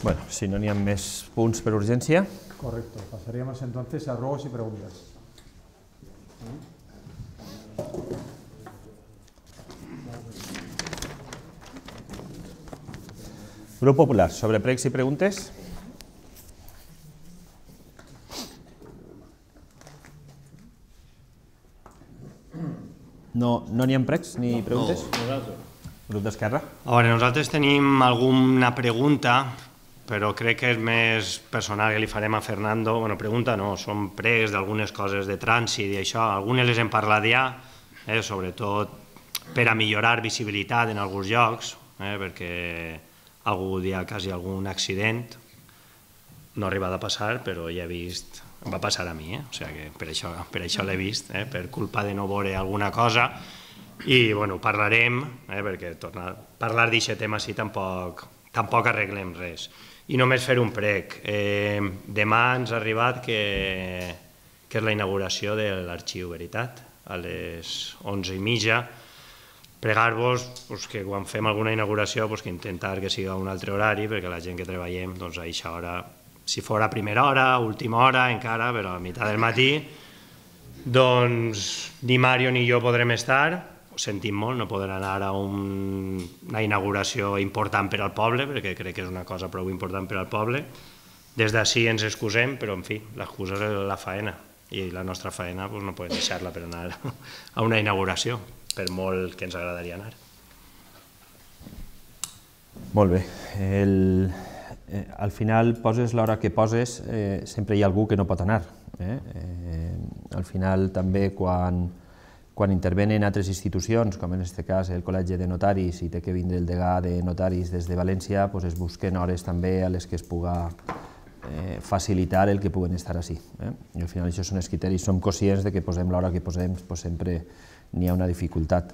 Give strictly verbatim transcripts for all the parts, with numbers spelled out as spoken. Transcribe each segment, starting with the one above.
Bueno, si no n'hi ha més punts per urgència. Correcto. Pasaríamos entonces a ruegos y preguntas. Grup Popular, sobre pregs i preguntes. No n'hi ha pregs ni preguntes? No, nosaltres. Grup d'Esquerra. A veure, nosaltres tenim alguna pregunta, però crec que és més personal que li farem a Fernando. Bueno, pregunta no, són pregs d'algunes coses de trànsit i això. Algunes les hem parlat ja, eh, sobretot per a millorar visibilitat en alguns llocs, eh, perquè algú hi ha quasi algun accident. No ha arribat a passar, però ja he vist... Em va passar a mi, eh? O sigui que per això, per això l'he vist, eh? Per culpa de no veure alguna cosa. I, bueno, parlarem, eh? Perquè tornar, parlar d'aquest tema sí tampoc, tampoc arreglem res. I només fer un prec. Eh, demà ens ha arribat que, que és la inauguració de l'Arxiu Veritat, a les onze i mitja. Pregar-vos pues, que quan fem alguna inauguració pues, que intentar que sigui a un altre horari, perquè la gent que treballem doncs, a aquesta hora, si fos a primera hora, última hora encara, però a meitat del matí, doncs ni Mario ni jo podrem estar, ho sentim molt, no podrem anar a un, una inauguració important per al poble, perquè crec que és una cosa prou important per al poble. Des d'ací ens excusem, però en fi, l'excusa és la faena, i la nostra faena doncs, no podem deixar-la per anar a una inauguració, per molt que ens agradaria anar. Molt bé. El... Eh, al final, poses l'hora que poses, eh, sempre hi ha algú que no pot anar. Eh? Eh, al final, també, quan, quan intervenen altres institucions, com en aquest cas el Col·legi de Notaris, i té que vindre el degà de notaris des de València, pues es busquen hores també a les que es puga eh, facilitar el que puguen estar així. Eh? I al final, això són els criteris. Som conscients de que posem l'hora que posem, pues sempre n'hi ha una dificultat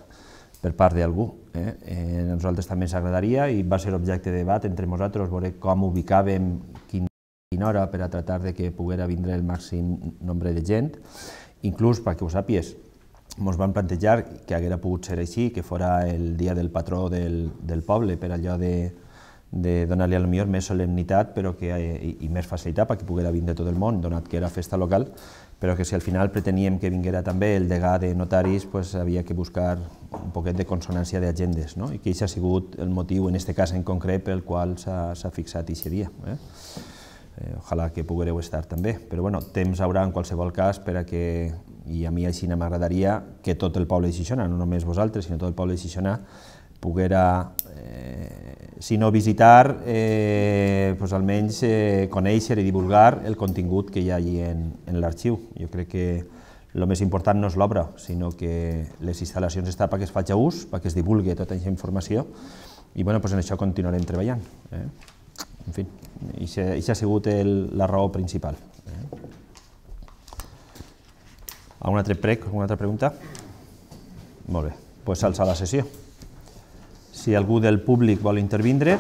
per part d'algú. Eh? Eh, a nosaltres també ens agradaria, i va ser objecte de debat entre nosaltres, veure com ubicàvem quina hora per a tratar de que poguera vindre el màxim nombre de gent. Inclús, perquè ho sàpies, ens van plantejar que haguera pogut ser així, que fora el dia del patró del, del poble, per allò de, de donar-li a lo millor més solemnitat però que, i, i més facilitat perquè poguera vindre tot el món, donat que era festa local, però que si al final preteníem que vinguera també el degà de notaris, pues havia que buscar un poquet de consonància d'agendes, no? I que això ha sigut el motiu, en aquest cas en concret, pel qual s'ha fixat aquest dia. Eh? Eh, ojalà que poguereu estar també, però bueno, temps haurà en qualsevol cas per a que, i a mi així m'agradaria que tot el poble de Xixona, no només vosaltres, sinó tot el poble de Xixona, poguera, eh, si no visitar, eh, pues almenys eh, conèixer i divulgar el contingut que hi ha allí en, en l'arxiu. Jo crec que el més important no és l'obra, sinó que les instal·lacions estan perquè es faci ús, perquè es divulgui tota aquesta informació, i bueno, pues en això continuarem treballant. Eh? En fi, això ha sigut el, la raó principal. Eh? Algun altre prec, alguna altra pregunta? Molt bé, doncs s'alça la sessió. Si algú del públic vol intervindre,